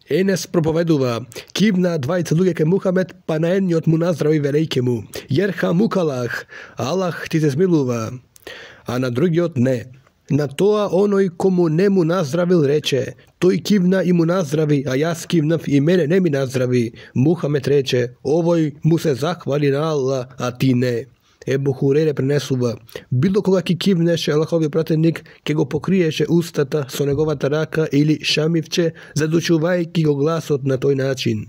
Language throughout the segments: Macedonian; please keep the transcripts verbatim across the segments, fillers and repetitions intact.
Енес проповедува, кивна двајца луѓе кај Мухамед, па на едниот му наздрави велејке му, Јерха мукалах, Аллах ти се смилува, а на другиот не. На тоа оној кому не му наздравил рече, тој кивна и му наздрави, а јас кивнав и мене не ми наздрави. Мухамед рече, овој му се захвали на Аллах, а ти не. Ебу Хурейре пренесува, било кога ки кивнеше Аллаховиот пратеник, ке го покриеше устата со неговата рака или шамивче, задушувајќи го гласот на тој начин.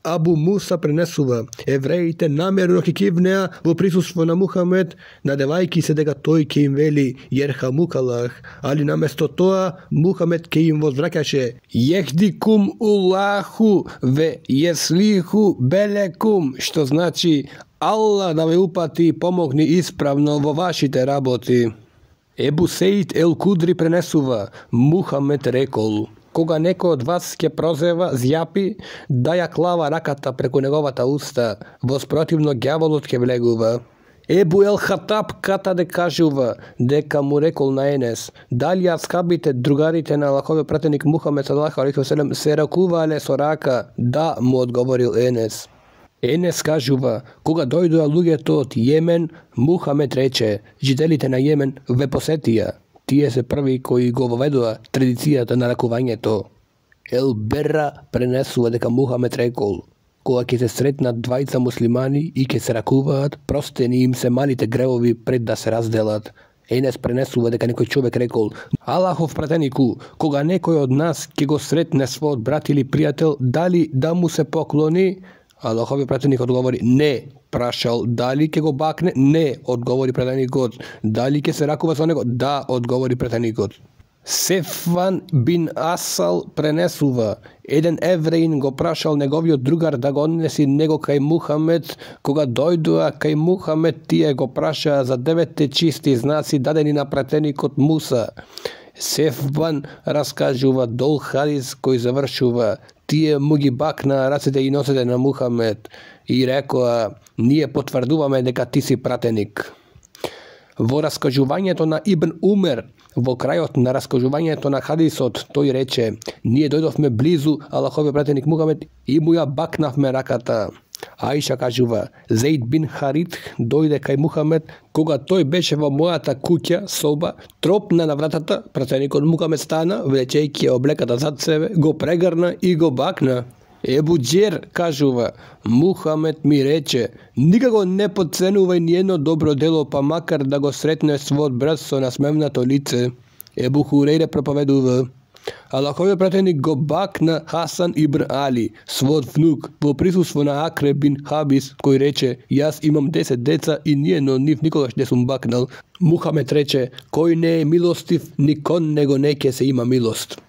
Абу Муса пренесува, евреите намерно ке кивнеа во присуство на Мухамед, надевајќи се дека тој ке им вели Јерхамукалах, али наместо тоа Мухамед ке им возвраќаше Јехдикум Улаху ве јеслиху белекум, што значи Аллах да ве упати и помогни исправно во вашите работи. Ебу Сеид ел Кудри пренесува, Мухамед рекол, кога некој од вас ќе прозева, зјапи, да ја клава раката преку неговата уста, воспротивно ѓаволот ќе влегува. Ебу ел Хатаб Катаде кажува дека му рекол на Енес, дали аскабите, другарите на Аллаховиот пратеник Мухамед салаллаху алейхи ве селем се ракувале со рака? Да, му одговорил Енес. Енес кажува, кога дојдоа луѓето од Јемен, Мухамед рече, жителите на Јемен ве посетија. Тие се први кои го воведоа традицијата на ракувањето. Ел Берра пренесува дека Мухамед рекол, кога ќе се сретнат двајца муслимани и ќе се ракуваат, простени им се малите гревови пред да се разделат. Енес пренесува дека некој човек рекол, Аллахов пратенику, кога некој од нас ќе го сретне својот брат или пријател, дали да му се поклони? Аллаховиот пратеник одговори, не. Прашал, дали ќе го бакне? Не, одговори пратеникот. Дали ќе се ракува со него? Да, одговори пратеникот. Сефван бин Асал пренесува, еден евреин го прашал неговиот другар да го однеси него кај Мухамед, кога дојдоа кај Мухамед, тие го прашаа за деветте чисти знаци дадени на пратеникот Муса. Сефван раскажува дол хадис кој завршува, тие му ги бакнаа рацете и носете на Мухамед и рекоа, ние потврдуваме дека ти си пратеник. Во раскажувањето на Ибн Умер, во крајот на раскажувањето на хадисот, тој рече, ние дојдовме близу Аллаховиот пратеник Мухамед и му ја бакнавме раката. Аиша кажува, Зеид бин Харит дојде кај Мухамед, кога тој беше во мојата куќа, соба, тропна на вратата, пратеникот Мухамед стана, влечејќи облеката зад себе, го прегрна и го бакна. Ебу Џер кажува, Мухамед ми рече, никако не подценувај ниедно добро дело, па макар да го сретнеш својот брат со насмевнато лице. Ебу Хурейре проповедува, Аллаховиот пратеник го бакна Хасан ибн Али, својот внук, во присуство на Акре бин Хабис, кој рече, јас имам десет деца и ниедно од нив никогаш не сум бакнал. Мухамед рече, кој не е милостив, ни кон него не ќе се има милост.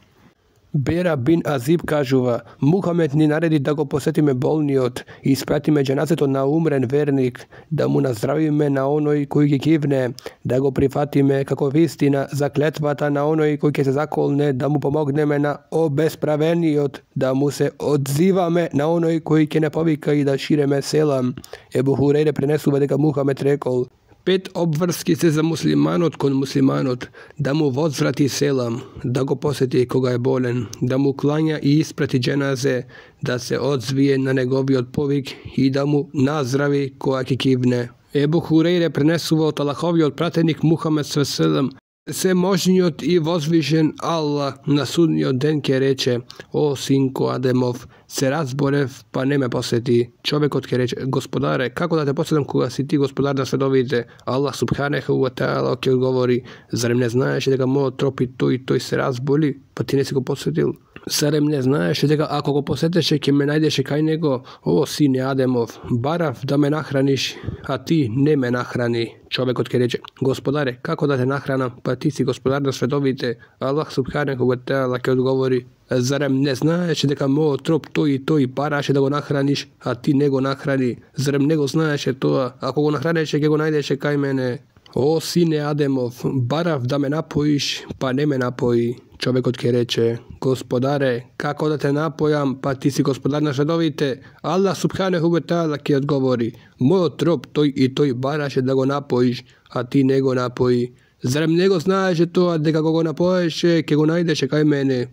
Бера бин Азиб кажува, Мухамед ни нареди да го посетиме болниот и испратиме џеназето на умрен верник, да му наздравиме на оној кој ги кивне, да го прифатиме како вистина за клетвата на оној кој ќе се заколне, да му помогнеме на обесправениот, да му се одзиваме на оној кој ќе не повика и да ширеме селам. Ебу Хурейре пренесува дека Мухамед рекол, пет обврски се за муслиманот кон муслиманот, да му возврати селам, да го посети кога е болен, да му клања и испрати џеназе, да се одзвие на неговиот повик и да му наздрави кога ќе кивне. Ебу Хурейре пренесува од Аллаховиот пратеник Мухамед саллаллаху алейхи ве селем, се можниот и возвишен Аллах на судниот ден ќе рече, о синко Адемов, се разборев, па не ме посети. Човекот ќе рече, Господаре, како да те посетам кога си ти господар на световите? Аллах субханеху ва таала ќе одговори, зарем не знаеш дека мојот троп и тој и тој се разболи, па ти не си го посетил? Зарем не знаеш дека ако го посетеше ќе ме најдеше кај него? О сине Адемов, барав да ме нахраниш, а ти не ме нахрани. Човекот ќе рече, Господаре, како да те нахранам, па ти си господар на световите? Аллах субханеху ва таала ќе одговори, зарем не знаеш дека мојот троп тој и тој бараше да го нахраниш, а ти не го нахрани? Зарем не го знаеше тоа? Ако го нахранеше, ќе го најдеше кај мене. О сине Адемов, барав да ме напоиш, па не ме напои. Човекот ќе рече, Господаре, како да те напојам, па ти си господар на световите? Аллах субханеху ва таала ќе одговори, мојот троп тој и тој бараше да го напоиш, а ти не го напои. Зарем не го знаеше тоа дека кога го напоеше, ќе го најдеше кај мене?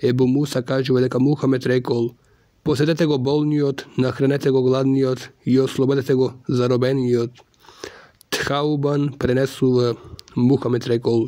Ебу Муса кажува дека Мухамед рекол: посетете го болниот, нахранете го гладниот и ослободете го заробениот. Тхаубан пренесува: Мухамед рекол: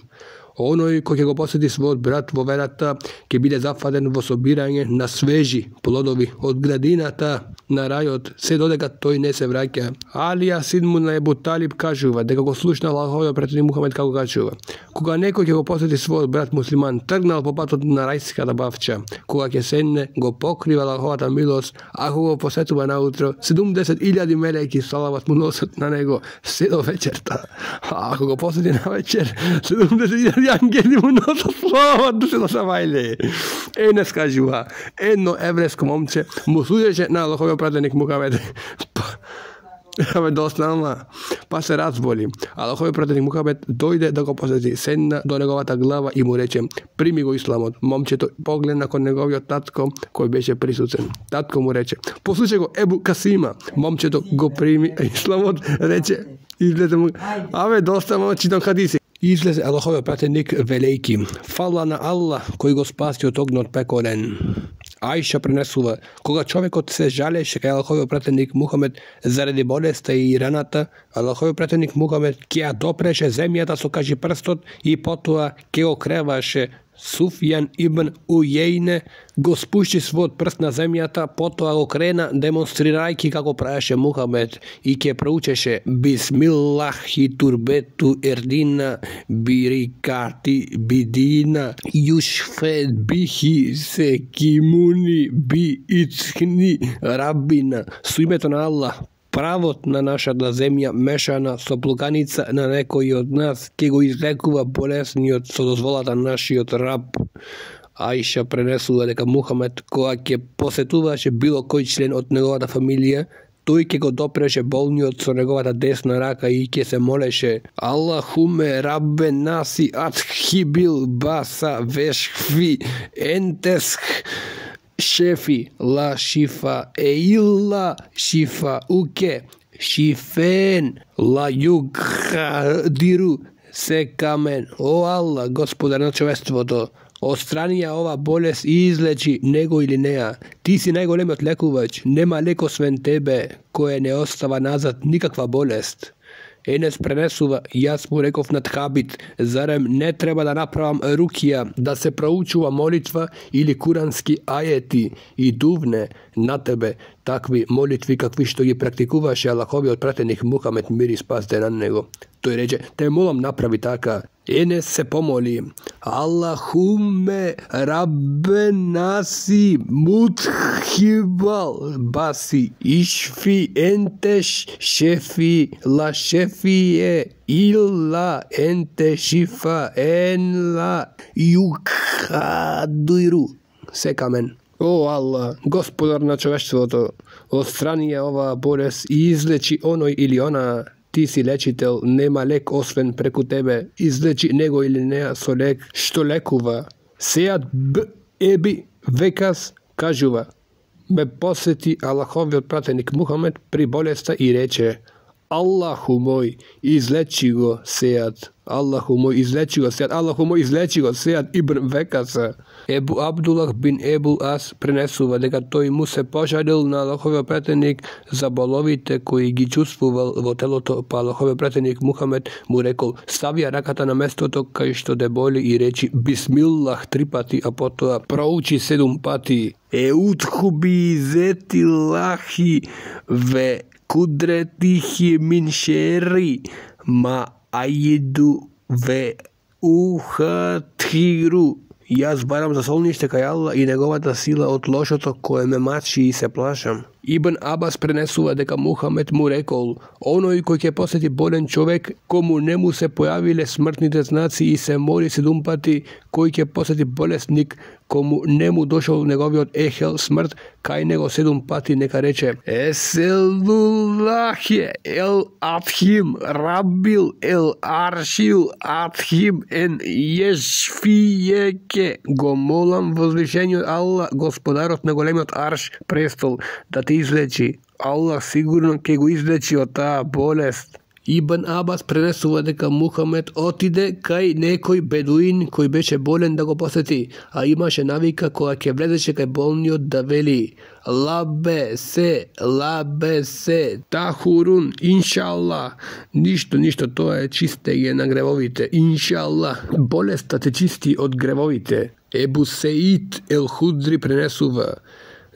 оној кој ќе го посети својот брат во верата ќе биде зафатен во собирање на свежи плодови од градината на рајот, се додека тој не се враќа. Алија син му на Ебу Талиб кажува дека го слушна Аллаховиот пратеник Мухамед како кажува: кога некој ќе го посети својот брат муслиман тргнал по патот на рајската бавча, кога ќе седне го покрива Аллаховата милост, ако го посетува наутро, седумдесет илјади мелеки салават му носат на него се до вечерта. А ако го посети на вечер, седумдесет илјади ангели му носат салават до се до сабајле. Енес кажува: едно еврејско момче му судеше на Аллаховиот пратеник Мухамед. Абе доснама, па се разболи. Аллаховиот пратеник Мухамед дојде да го посети, седна до неговата глава и му рече: прими го исламот. Момчето погледна кон неговиот татко кој беше присутен. Татко му рече: послушај го Ебу Касима. Момчето го прими исламот, рече, излезе му: абе доста читам хадиси. Излезе Аллаховиот пратеник велејки: фала на Аллах кој го спаси од огнот пекорен. Аиша пренесува: кога човекот се жалеше кај Аллаховиот пратеник Мухамед заради болеста и раната, Аллаховиот пратеник Мухамед ќе ја допреше земјата со кажи прстот и потоа ќе го креваше. Суфјан ибн Ујејне го спушти својот прст на земјата, потоа го крена демонстрирајќи како правеше Мухамед и ќе проучеше: бисмиллахи турбету ердина бирикати бидина юшфед бихи се кимуни би ицхни рабина. Со името на Аллах, правот на нашата земја мешана со плуканица на некој од нас ќе го излекува болесниот со дозволата нашиот раб. Аиша пренесува дека Мухамед кога ќе посетуваше било кој член од неговата фамилија, тој ќе го допреше болниот со неговата десна рака и ќе се молеше: Аллахуме раббе наси атхибил баса вешхви ентесх шефи ла шифа еилла шифа уке шифен ла югдиру се камен. О Аллах, Господар на човеството, отстрани ја ова болест и излечи него или неа. Ти си најголемиот лекувач, нема лек освен тебе, кој не остава назад никаква болест. Енес пренесува: јас му реков на Тхабит: зарем не треба да направам рукија, да се проучува молитва или курански ајети и дувне на тебе такви молитви какви што ги практикуваше Аллаховиот пратеник Мухамед, мир и спас да на него. Тој рече: те молам направи така. Енес се помоли: Аллахуме раббе наси мутхибал баси ишфи ентеш шефи ла шефие илла енте шифа ен ла юкадуиру се камен. О Аллах, Господар на човештвото, отстрани ја ова болест и излечи оној или она. Ти си лечител, нема лек освен преку тебе. Излечи него или неа со лек што лекува. Сејат Б. Еби Векас кажува: ме посети Аллаховиот пратеник Мухамед при болеста и рече: Аллаху мој, излечи го Сејат. Аллаху мој, излечи го Сејат. Аллаху мој, излечи го Сејат ибн Векаса. Ебу Абдулах бин Ебул Ас пренесува дека тој му се пожалил на Аллаховиот пратеник за боловите кои ги чувствувал во телото, па Аллаховиот пратеник Мухамед му рекол: ставија раката на местото кај што те боли и речи бисмиллах три пати, а потоа проучи седум пати: еутхуби зети лахи ве кудретихи мин шери ма ајиду ве ухатхиру. Јас барам за солниште кај Аллах и неговата сила од лошото кое ме мачи и се плашам. Ибн Абас пренесува дека Мухамед му рекол: оној кој ќе посети болен човек, кому не му се појавиле смртните знаци и се моли седум пати, кој ќе посети болесник, кому не му дошол неговиот ехел смрт, кај него седум пати нека рече: Еселуллахе ел атхим рабил ел аршил атхим ен ешфиеке. Го молам возвишениот Аллах, Господарот на големиот арш престол, да те излечи. Аллах сигурно ќе го излечи од таа болест. Ибн Абас пренесува дека Мухамед отиде кај некој бедуин кој беше болен да го посети, а имаше навика кога ќе влезеше кај болниот да вели: лабе се, лабе се, тахурун, иншалла. Ништо, ништо, тоа е чистење на гревовите, иншалла. Болеста те чисти од гревовите. Ебу Сеид ел Худри пренесува: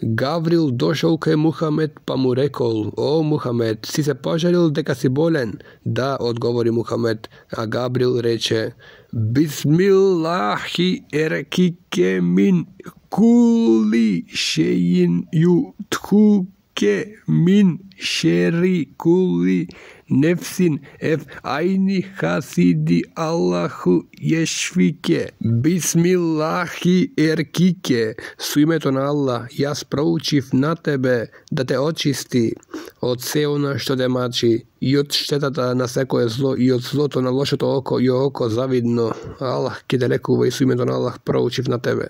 Гаврил дошол кај Мухамед па му рекол: О, Мухамед, си се пожалил дека си болен? Да, одговори Мухамед, а Габрил рече: Бисмиллахи еркике мин кули шеин ютхуке мин шери кули нефсин еф айни хасиди Аллаху ешвике. Бисмиллахи еркике, со името на Аллах, јас проучив на тебе да те очисти од се она што те мачи, и од штетата на секое зло, и од злото на лошото око и око завидно. Аллах ќе те лекува и со името на Аллах проучив на тебе.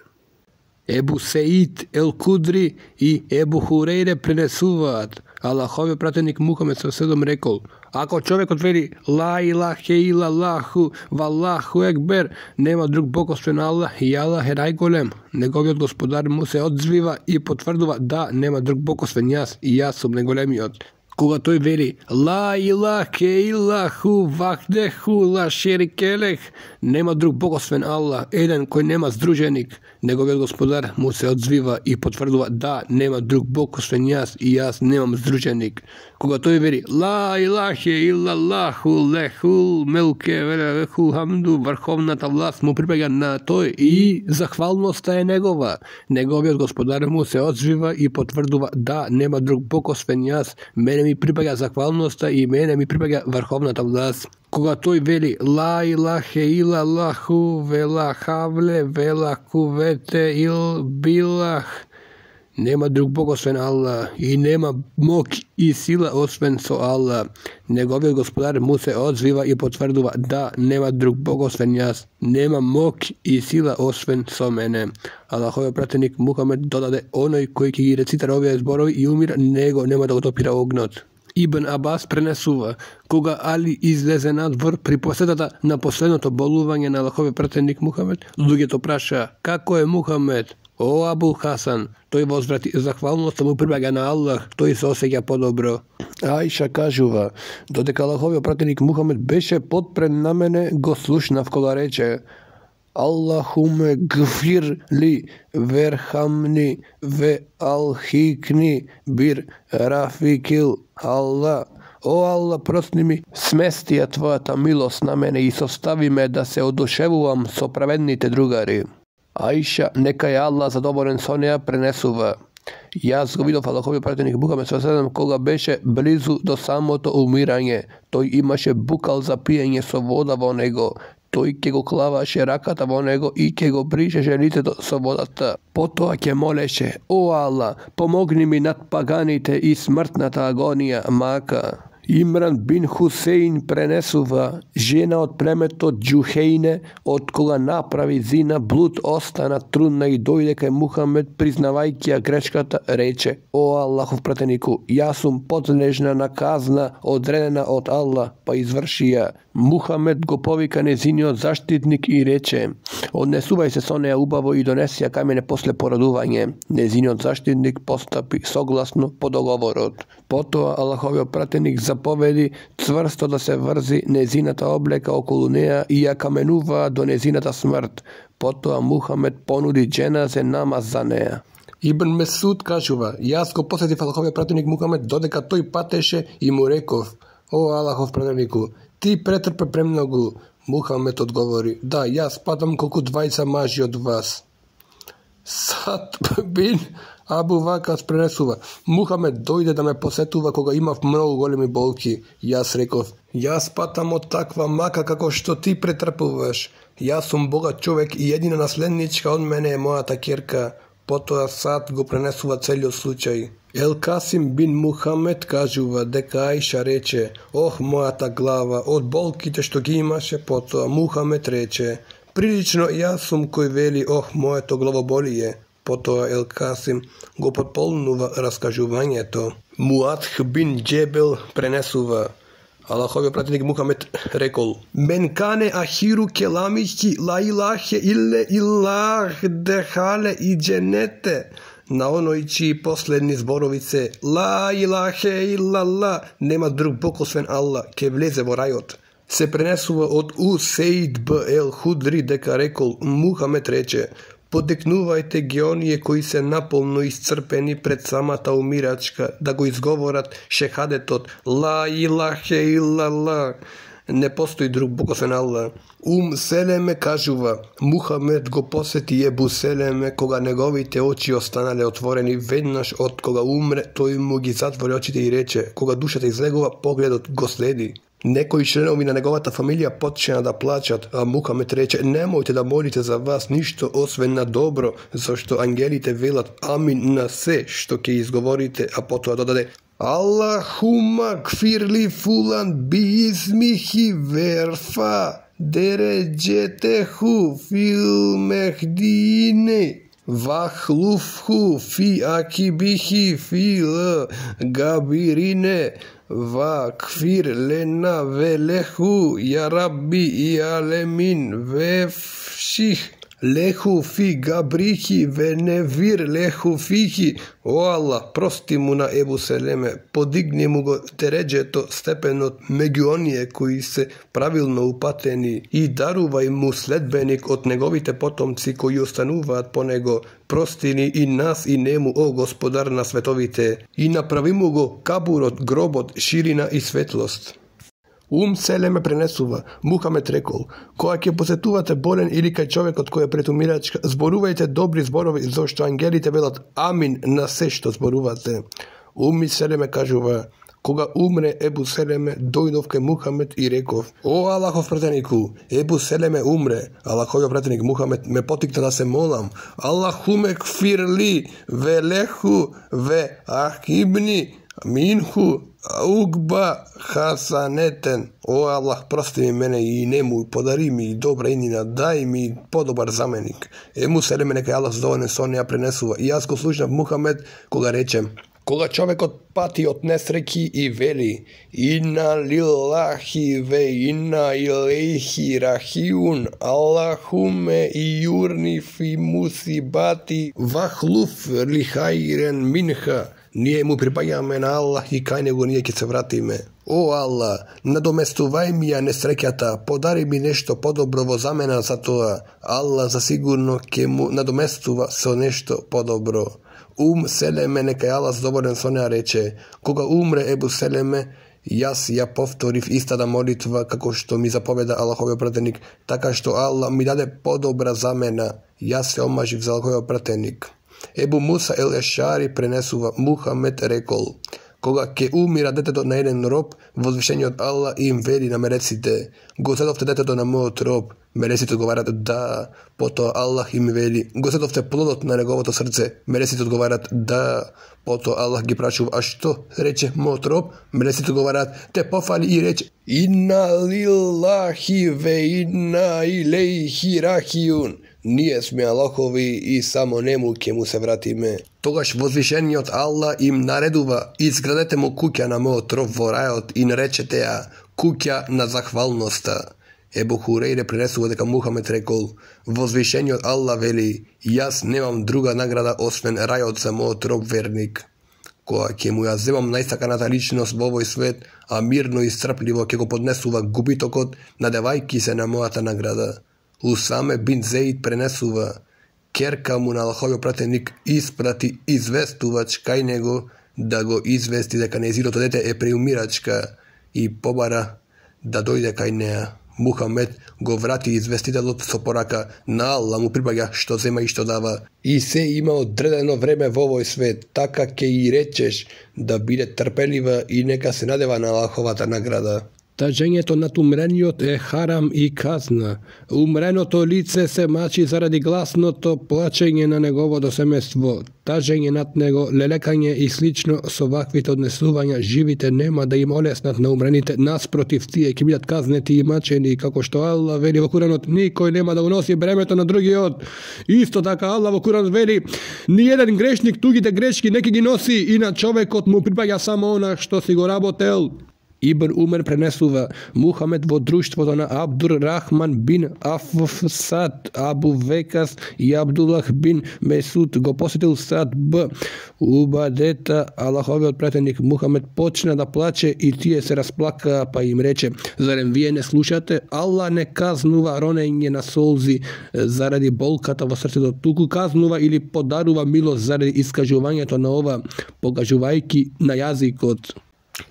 Ебу Сеид ел Кудри и Ебу Хурейре пренесуваат: Аллаховиот пратеник Мухамед седом рекол: ако човекот вели ла илахе илаллаху валлаху екбер, нема друг бог освен Аллах и Аллах е најголем, неговиот господар му се одзвива и потврдува: да, нема друг бог освен јас и јас сум најголемиот. Кога тој вели ла илахе илаху вахдеху ла шерикелех, нема друг бог освен Аллах, еден кој нема здруженик, неговиот господар му се одзвива и потврдува: да, нема друг бог освен јас и јас немам здруженик. Кога тој вели ла илахе илаллаху лехул мелке велехул хамду, врховната власт му припаѓа на тој и захвалноста е негова, неговиот господар му се одзвива и потврдува: да, нема друг бог освен јас, мене ми припаѓа захвалноста и мене ми припаѓа врховната власт. Кога тој вели ла илахе илаллаху вела хавле вела кувете ил билах, нема друг бог освен Аллах и нема мок и сила освен со Аллах, неговиот господар му се одзвива и потврдува: да, нема друг бог освен јас, нема мок и сила освен со мене. Аллаховиот пратеник Мухамед додаде: оној кој ќе ги рецитира овие зборови и умира, него нема да го топира огнот. Ибн Абас пренесува: кога Али излезе надвор при посетата на последното болување на Аллаховиот пратеник Мухамед, луѓето праша: како е Мухамед? О, Абул Хасан, тој возврати: захвалноста му прибаѓа на Аллах, тој се осеќа подобро. Аиша кажува: додека Аллаховиот пратеник Мухамед беше подпрен на мене, го слушнав кога рече: Аллахуме гфир ли верхамни ве алхикни бир рафикил Аллах. О Аллах, прости ми, смести ја твојата милост на мене и состави ме да се одушевувам со праведните другари. Аиша, нека е Аллах задоволен со неја, пренесува: јас го видов Аллаховиот пратеник Мухамед седем кога беше близу до самото умирање. Тој имаше букал за пиење со вода во него. Тој ќе го клаваше раката во него и ќе го бришеше лицето со водата. Потоа ќе молеше: О Аллах, помогни ми над паганите и смртната агонија мака. Имран бин Хусейн пренесува: жена од племето Џухејне, од кога направи зина, блуд остана трудна и дојде кај Мухамед, признавајќи ја грешката, рече: О Аллахов пратенику, јас сум подлежна на казна одредена од Аллах, па изврши ја. Мухамед го повика незиниот заштитник и рече: однесувај се со неја убаво и донеси ја кај мене после породување. Незиниот заштитник постапи согласно по договорот. Потоа Аллаховиот пратеник заповеди цврсто да се врзи незината облека околу неја и ја каменува до незината смрт. Потоа Мухамед понуди џеназе намаз за неја. Ибн Месуд кажува: јас го посетив Аллаховиот пратеник Мухамед додека тој патеше и му реков: О Аллахов пратенику, ти претрпе премногу. Мухамед одговори: да, јас патам колку двајца мажи од вас. Сад бин Абу Вакас пренесува: Мухамед дојде да ме посетува кога имав многу големи болки. Јас реков: јас патам од таква мака како што ти претрпуваш. Јас сум богат човек и едина наследничка од мене е мојата ќерка. Потоа Сад го пренесува целиот случај. Ел Касим бин Мухамед кажува дека Аиша рече: Ох, мојата глава, од болките што ги имаше. Потоа Мухамед рече: прилично јас сум кој вели: Ох, моето главоболие. Потоа Ел Касим го потполнува раскажувањето. Муадх бин Џебел пренесува: Аллаховиот пратеник Мухамед рекол: Мен кане ахиру келамихи ла илахе илле илах дехале и дженете. На оној чии последни зборовице ла илахе иллалла, нема друг бог освен Аллах, ке влезе во рајот. Се пренесува од Усейд б ел Худри дека рекол: Мухамед рече: Подекнувајте ги оние кои се наполно исцрпени пред самата умирачка да го изговорат шехадетот ла илахе иллалла, не постои друг бог освен Аллах. Ум Селеме кажува: Мухамед го посети Ебу Селеме кога неговите очи останале отворени. Веднаш од кога умре, тој му ги затвори очите и рече: Кога душата излегува, погледот го следи. Некои членови на неговата фамилија почнаа да плачат, а Мухамед рече: Немојте да молите за вас ништо освен на добро, зашто ангелите велат амин на се што ќе изговорите, а потоа додаде: Аллахума кфирли фулан би измихи верфа дереджетеху фил мехдине вахлуфху фи акибихи фил габирине вакфир лена велеху я рабби и алемин вефших леху фи габрихи веневир леху фихи. О Аллах, прости му на Ебу Селеме, подигни му го дереджето, степенот меѓу оние кои се правилно упатени и дарувај му следбеник од неговите потомци кои остануваат по него. Прости ни и нас и нему, о Господар на световите, и направи му го кабурот, гробот, ширина и светлост. Ум Селеме пренесува: Мухамед рекол: Кога ќе посетувате болен или кај човекот кој е пред умирачка, зборувајте добри зборови, зашто ангелите велат амин на се што зборувате. Ум Селеме кажува: Кога умре Ебу Селеме, дојдов кај Мухамед и реков: О Аллахов пратенику, Ебу Селеме умре. Аллаховиот пратеник Мухамед ме потикна да се молам: Аллахуме кфирли велеху ве ахибни минху угба хасанетен. О Аллах, прости ми мене и нему, подари ми добра инина, дај ми подобар заменик. Ему Селеме, нека Аллах задоволен со неа пренесува: И јас го слушнав Мухамед кога рече: Кога човекот пати од несреќи и вели: Инна лилахи ве инна илейхи рахиун, Аллахуме и юрни фи мусибати вахлуф ли хајрен минха. Ние му припаѓаме на Аллах и кај него ние ќе се вратиме. О Аллах, надоместувај ми ја несреќата, подари ми нешто подобро во замена за тоа. Аллах засигурно ќе му надоместува со нешто подобро. Ум Селеме, нека Аллах задоволен со неа рече: Кога умре Ебу Селеме, јас ја повторив истата молитва како што ми заповеда Аллаховиот пратеник, така што Аллах ми даде подобра замена. Јас се омажив за Аллаховиот пратеник. Ебу Муса ел Ешари пренесува: Мухамед рекол: Кога ќе умира детето на еден роб, возвишениот Аллах им вели на мелеците: Го седовте детето на мојот роб. Мелеците одговарат: Да. Потоа Аллах им вели: Го седовте плодот на неговото срце. Мелеците одговарат: Да. Потоа Аллах ги прашува: А што рече мојот роб? Мелеците одговарат: Те пофали и рече: Инна лилахи ве инна илейхи рахиун. Ние сме Аллахови и само нему ќе му се вратиме. Тогаш возвишениот Аллах им наредува: Изградете му куќа на мојот роб во рајот и наречете ја куќа на захвалноста. Ебу Хурейре пренесува дека Мухамед рекол: Возвишениот Аллах вели: Јас немам друга награда освен рајот за мојот роб верник. Кога ќе му ја земам најсаканата личност во овој свет, а мирно и страпливо ќе го поднесува губитокот, надевајки се на мојата награда. Усаме бин Зеид пренесува: Керка му на Аллаховиот пратеник испрати известувач кај него да го извести дека нејзиното дете е преумирачка и побара да дојде кај неа. Мухамед го врати известителот со порака: На Аллах му припаѓа што зема и што дава, и се има одредено време во овој свет, така ќе и речеш да биде трпелива и нека се надева на Аллаховата награда. Тажењето над умрениот е харам и казна. Умреното лице се мачи заради гласното плачење на неговото семејство. Тажење над него, лелекање и слично со ваквите однесувања, живите нема да им олеснат на умрените, наспротив тие ќе бидат казнети и мачени, како што Аллах вели во Куранот: Никој нема да го носи бремето на другиот. Исто така Аллах во Куранот вели: Ниеден грешник тугите грешки не ќе ги носи, и на човекот му припаѓа само она што си го работел. Ибн Умер пренесува Мухамед во друштвото на Абдур Рахман бин Афсад, Абу Векас и Абдуллах бин Месуд го посетил Сад б. Убадета, Аллаховиот пратеник Мухамед почна да плаче и тие се расплакаа, па им рече: зарем вие не слушате? Аллах не казнува ронење на солзи заради болката во срцето, туку казнува или подарува милост заради искажувањето на ова, покажувајќи на јазикот.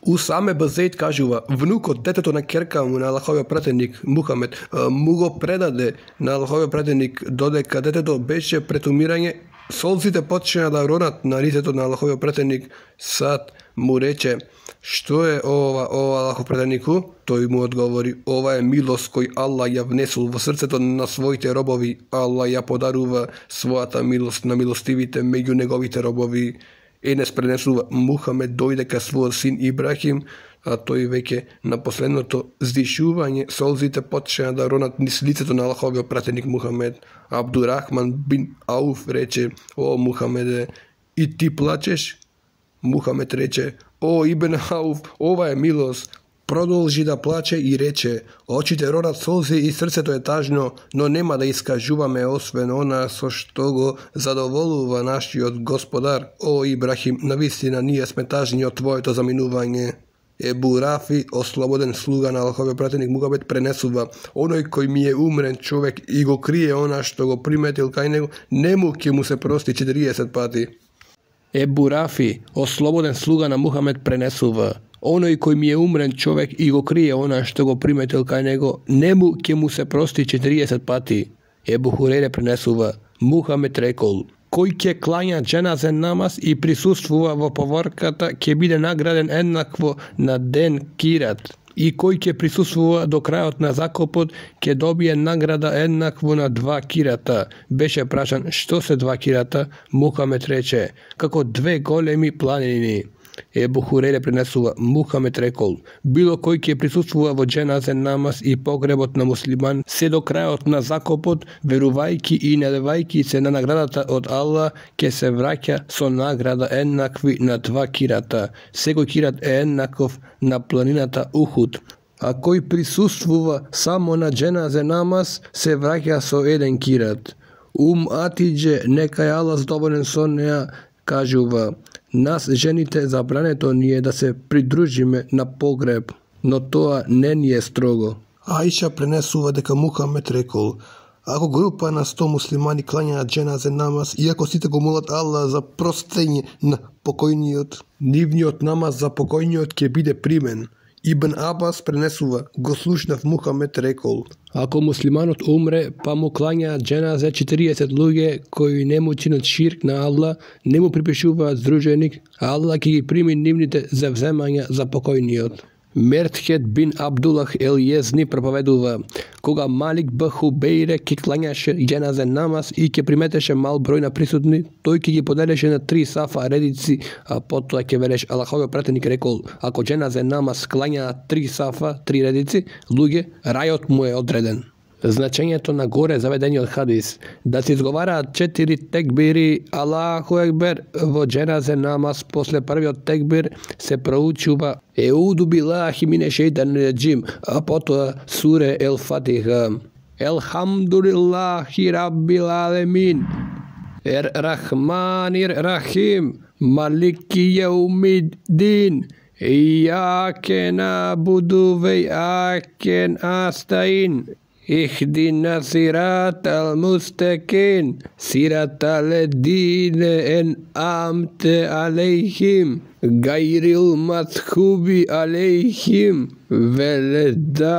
Усаме Базейд кажува: внукот, детето на керка му на Аллаховиот пратеник Мухамед, му го предаде на Аллаховиот пратеник, додека детето беше пред умирање, солзите почна да ронат на лицето на Аллаховиот пратеник. Сад му рече: што е ова, ова Аллахов пратенику? Тој му одговори: ова е милост кој Аллах ја внесул во срцето на своите робови. Аллах ја подарува својата милост на милостивите меѓу неговите робови. Енес пренесува: Мухамед дојде ка својот син Ибрахим, а тој веќе на последното здишување солзите почна да ронат низ лицето на Аллаховиот пратеник Мухамед. Абдурахман бин Ауф рече: о Мухамеде, и ти плачеш? Мухамед рече: о Ибн Ауф, ова е милост. Продолжи да плаче и рече: очите ронат солзи и срцето е тажно, но нема да искажуваме освен она со што го задоволува нашиот Господар. О Ибрахим, навистина ние сме тажни од твоето заминување. Ебу Рафи, ослободен слуга на Аллаховиот пратеник Мухамед, пренесува: оној кој ми е умрен човек и го крие она што го приметил кај него, нему ќе му се прости четириесет пати. Ебу Рафи, ослободен слуга на Мухамед, пренесува: оној кој ми е умрен човек и го крие она што го приметил кај него, нему ќе му се прости четириесет пати. Ебу Хурейре пренесува: Мухамед рекол: кој ќе клања џеназен намаз и присуствува во поворката, ќе биде награден еднакво на ден Кират. И кој ќе присуствува до крајот на закопот, ќе добие награда еднакво на два кирата. Беше прашан: што се два кирата? Мухамед рече: како две големи планини. Ебу Хурейре пренесува: Мухамед рекол: било кој ќе присуствува во џеназен намаз и погребот на муслиман се до крајот на закопот, верувајќи и надевајќи се на наградата од Аллах, ќе се враќа со награда еднакви на два кирата. Секој кират е еднаков на планината Ухуд. А кој присуствува само на џеназен намаз, се враќа со еден кират. Ум Атидже, нека е Аллах задоволен со неа, кажува: нас жените забрането ни е да се придружиме на погреб, но тоа не ни е строго. Аиша пренесува дека Мухамед рекол: ако група на сто муслимани клањаат џеназен намаз и ако сите го молат Аллах за простење на покојниот, нивниот намаз за покојниот ќе биде примен. Ибн Абас пренесува: го слушнав Мухамед рекол: ако муслиманот умре, па му клањаат џеназе четириесет луѓе кои не му чинат ширк на Аллах, не му припишуваат здруженик, Аллах ќе ги прими нивните завземања за покојниот. Мертхет бин Абдуллах ел Језни проповедува: кога Малик б Хубейре ќе клањаше џеназен намаз и ќе приметеше мал број на присутни, тој ќе ги поделеше на три сафа редици, а потоа ќе велеш: Аллаховиот пратеник рекол: ако џеназен намаз клања три сафа, три редици луѓе, рајот му е одреден. Значењето на горе заведениот хадис: да се изговараат четири текбири Аллаху екбер во џеназен намаз, после првиот текбир се проучува Еуду билахи мине шејтани реџим, а потоа суре Ел Фатиха. Елхамдулиллахи раббил алемин, Ер Рахманир Рахим, Малики јаумиддин, Ијаке набуду ве ијаке настаин, Ихдина сирата ал-мустакин, сирата ледине ен амте алейхим, гайрил матхуби алейхим, веледалин.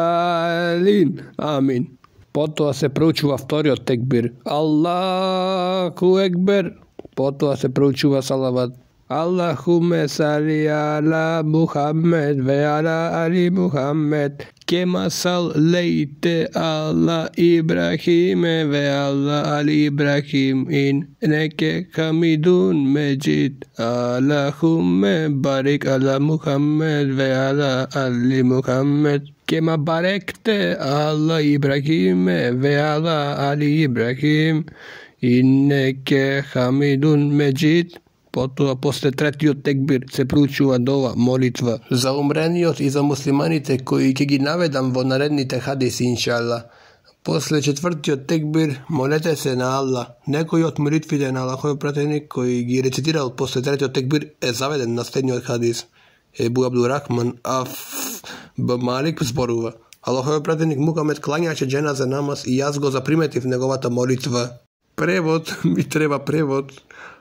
Амин. Потоа се проучува вториот текбир Аллаху екбер, потоа се проучува салават Аллахуме сали ала Мухаммед ве ала али Мухаммед, кема салейте ала Ибрахиме ве ала али Ибрахим иннеке хамидун меджид. Аллахуме барик ала Мухаммед ве ала али Мухаммед, кема баректе ала Ибрахиме ве ала али Ибрахим иннеке хамидун меджид. Потоа, после третиот текбир, се проучува дова, молитва за умрениот и за муслиманите кои ќе ги наведам во наредните хадиси, иншалла. После четвртиот текбир, молете се на Аллах. Некој од молитвите на Аллаховиот пратеник кој ги рецитирал после третиот текбир е заведен на следниот хадис. Ебу Абдурахман Аф Б Малик зборува: Аллаховиот пратеник Мухамед клањаше џеназа намаз и јас го заприметив неговата молитва. Превод, ми треба превод.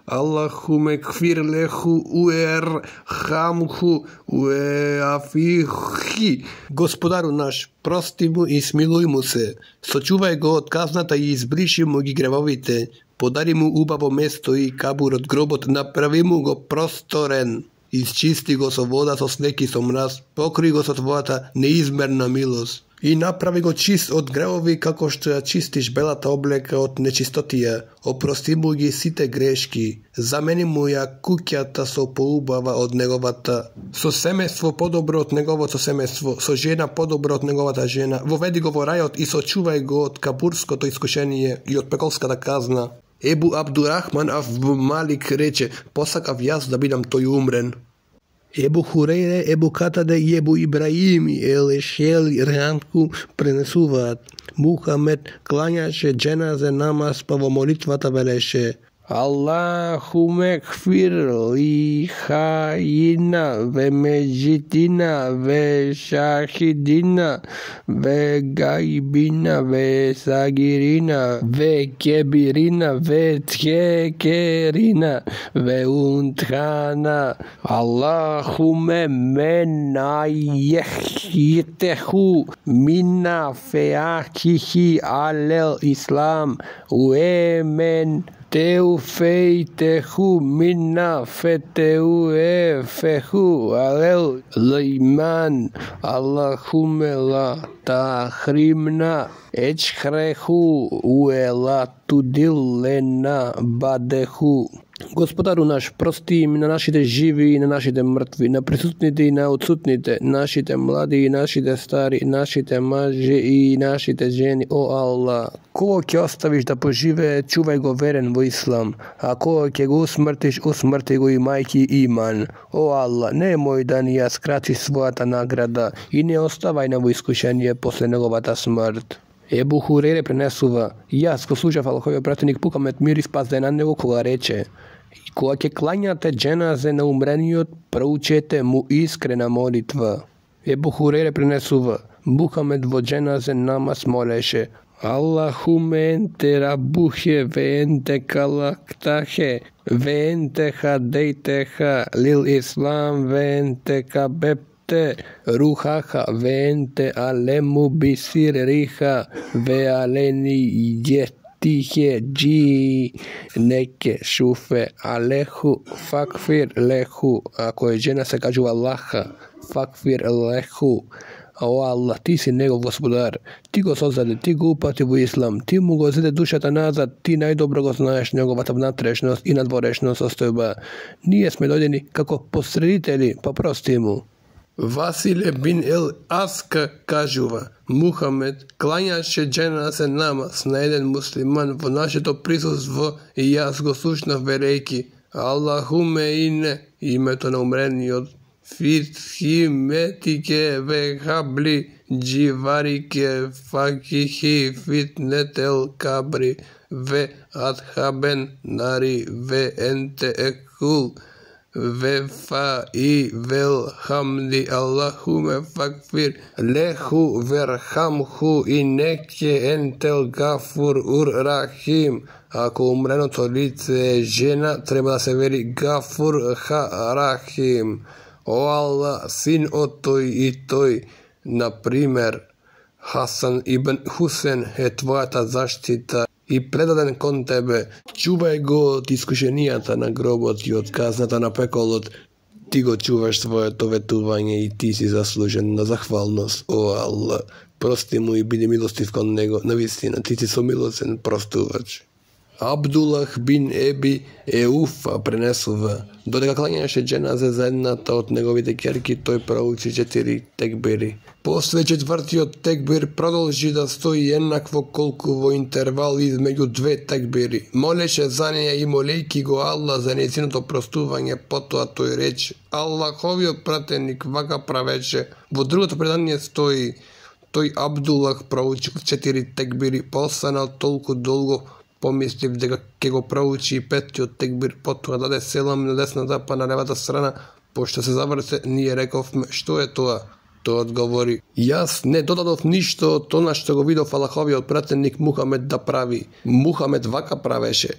Аллахуме кфир леху уер хамху уеафихи. Господару наш, прости му и смилуј му се. Сочувај го од казната и избриши му ги гревовите. Подари му убаво место и кабур од гробот, направи му го просторен. Исчисти го со вода, со снег и со мраз, покри го со твојата неизмерна милост. И направи го чист од гревови како што ја чистиш белата облека од нечистотија. Опрости му ги сите грешки. Замени му ја куќата со поубава од неговата, со семејство подобро од неговото семејство, со жена подобро од неговата жена. Воведи го во рајот и сочувај го од кабурското искушение и од пеколската казна. Ебу Абдурахман Аф Малик рече: посакав јас да бидам тој умрен. Ебу Хурейре, Ебу Катаде и Ебу Ибраим и Елешел и Рянку пренесуваат: Мухамед клањаше џеназе намаз, па во молитвата велеше: Аллахуме кфир ли хаина ве меджитина ве шахидина ве гайбина ве сагирина ве кебирина ве тхекерина ве унтхана. Аллахуме мена ехитеху мина феахихи алел ислам уемен Teu feitehu minna feteu e fehu alel liman. Allahumme la tahrimna ечхреху уела tudillena badehu. Господару наш, прости им на нашите живи и на нашите мртви, на присутните и на отсутните, нашите млади и нашите стари, нашите мажи и нашите жени, о Аллах. Кого ќе оставиш да поживее, чувај го верен во ислам, а кого ќе го усмртиш, усмрти го и мајки иман. О Аллах, не мој да ни ја скрати својата награда и не оставај на во искушение после неговата смрт. Ебу Хурейре пренесува: јас го слушав Аллаховиот пратеник Мухамед мир и спас да е на него, кога рече: кога ќе клањате џеназе на умрениот, проучете му искрена молитва. Ебу Хурейре пренесува: Мухамед во џеназе намаз молеше: Аллахуме енте рабухе ве енте калактахе ве енте хадейтеха лил ислам ве енте кабеб Рухаха венте алему бисир риха ве алени јетихе джи неке шуфе алеху факфир леху. Ако е жена се кажува Аллаха, факфир леху. О Аллах, ти си негов господар, ти го создаде, ти го упати во ислам, ти му го зеде душата назад, ти најдобро го знаеш неговата внатрешност и надворешност состојба. Ние сме дојдени како посредители, па прости му. Василе бин ел Аска кажува: Мухамед клањаше џеназе намаз на еден муслиман во нашето присуство и јас го слушнав велејки: Аллахуме ине, името на умрениот, фитхиметике ве хабли дживарике факихи фитнетел кабри ве адхабен нари ве енте екул ве фа и вел хамди. Аллахуме факфир леху верхамху и неке ентел гафур ур рахим. Ако умреното лице е жена, треба да се вели гафур ха рахим. О Аллах, син од тој и тој, например Хасан ибн Хусен е твојата заштита и предаден кон тебе. Чувај го од искушенијата на гробот и од казната на пеколот. Ти го чуваш своето ветување и ти си заслужен на захвалност, о Аллах. Прости му и биди милостив кон него, навистина, ти си сомилосен простувач. Абдулах бин Еби Еуфа пренесува. Додека клањаше џеназе за едната од неговите ќерки, тој проучи четири текбири. После четвртиот текбир продолжи да стои еднакво колку во интервал измеѓу две текбири. Молеше за неја и молејки го Аллах за нејзиното простување, потоа тој рече: Аллаховиот пратеник вака правеше. Во другото предание стои: тој Абдулах проучи четири текбири, постанал толку долго, помислив дека ќе го проучи и петтиот текбир, потоа даде селам на десната па на левата страна. Пошто се заврте, ние рековме: што е тоа? Тој одговори: јас не додадов ништо од тоа што го видов Аллаховиот пратеник Мухамед да прави. Мухамед вака правеше.